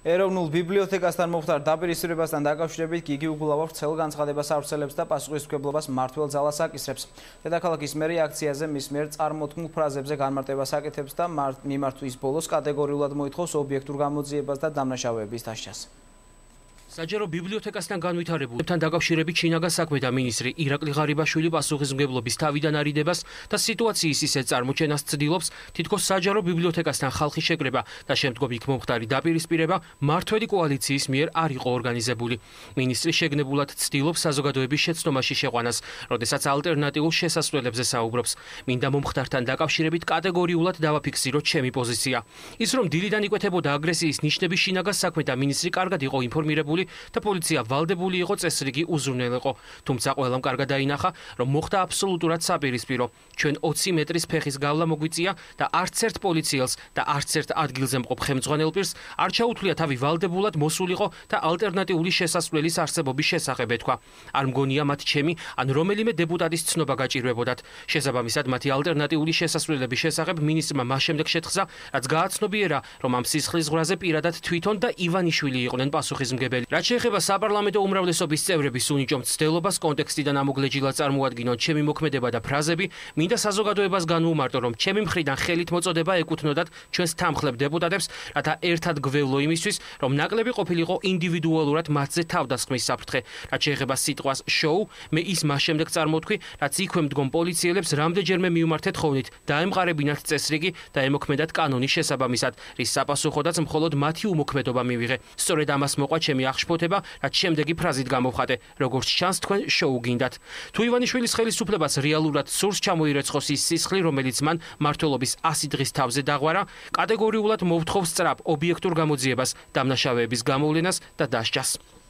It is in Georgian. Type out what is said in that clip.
ეროვნულ ბიბლიოთეკასთან მომხდარ დაპირისპირებასთან დაკავშირებით გიგი უგულავა ვრცელ განცხადებას ავრცელებს და პასუხისმგებლობას მმართველ ძალას აკისრებს. დედაქალაქის მერი აქციაზე მის მიერ წარმოთქმულ ფრაზებზე განმარტებას აკეთებს და მიმართვის ბოლოს კატეგორიულად მოითხოვს ობიექტურ გამოძიებას და დამნაშავეების დასჯას. საჯარო ბიბლიოთეკასთან განვითარებულებთან დაკავშირებით შინაგან საქმეთა მინისტრი ირაკლი ღარიბაშვილი პასუხისმგებლობის თავიდან არიდებას და სიტუაციის ისეთ წარმოჩენას ცდილობს, თითქოს საჯარო ბიბლიოთეკასთან ხალხი შეკრება და შემდგომ იქ მომხდარი დაპირისპირება მმართველი კოალიციის მიერ არ იყო ორგანიზებული. მინისტრი შეგნებულად ცდილობს საზოგადოების შეცდომაში შეყვანას, როდესაც ალტერნატიულ შესასვლელებზე საუბრობს. მინდა მომხდართან დაკავშირებით კატეგორიულად დავაფიქსიროთ ჩემი პოზიცია. ის რომ დილიდან იკვეთებოდა აგრესიის ნიშნები შინაგან საქმეთა მინისტრი კარგად იყო ინფორმირებული და პოლიცია ვალდებული იყო წესრიგი უზრუნველიყო. თუმცა ყველამ კარგად დაინახა, რომ მოხდა აბსოლუტურად საპირისპირო. ჩვენ 20 მეტრის ფეხის გავლა მოგვიწია და არც ერთ პოლიციელს და არც ერთ ადგილზე მყოფ ხელმძღვანელ პირს არ ჩაუთვლია თავი ვალდებულად მოსულიყო და ალტერნატიული შესასვლელის არსებობის შესახებ ეთქვა. არ მგონია მათ ჩემი ან რომელიმე დეპუტატის ცნობა გაჭირვებოდათ. შესაბამისად მათი ალტერნატიული შესასვლელების შესახებ მინისტრმა მას შემდეგ შეთხზა, რაც გააცნობიერა, რომ ამ სისხლის ზღვრაზე პირადად თვითონ და ივანიშვილი იყვნენ პასუხისმგებელი. რაც შეეხება საპარლამენტო უმრავლესობის წევრების უნიჭო მცდელობას კონტექსტიდან ამოგლეჯილად წარმოადგინონ ჩემი მოქმედება და ფრაზები, მინდა საზოგადოებას განვუმარტო, რომ ჩემი მხრიდან ხელით მოწოდება ეკუთვნოდათ ჩვენს თანმხლებ დეპუტატებს, რათა ერთად გველო იმისთვის, რომ ნაკლები ყოფილიყო ინდივიდუალურად მათზე თავდასხმის საფრთხე. რაც შეეხება სიტყვას შოუ, მე ის მას შემდეგ წარმოვთქვი, რაც იქვე მდგომ პოლიციელებს რამდენჯერმე მიუმართეთ ხოვნით, დაემყარებინათ წესრიგი და ემოქმედათ კანონის შესაბამისად, რის საპასუხოდაც მხოლოდ მათი უმოქმედობა მივიღე. სწორედ ამას მოყვა ჩემი აღშფოთება, რაც შემდეგი ფრაზით გამოვხატე, როგორც ჩანს თქვენ შოუ გინდათ. თუ ივანიშვილის ხელისუფლებას რეალურად სურს ჩამოირეცხოს ის სისხლი, რომელიც მან მმართველობის 100 დღის თავზე დაღვარა, კატეგორიულად მოვთხოვს სწრაფ ობიექტურ გამოძიებას, დამნაშავეების გამოვლენას და დასჯას.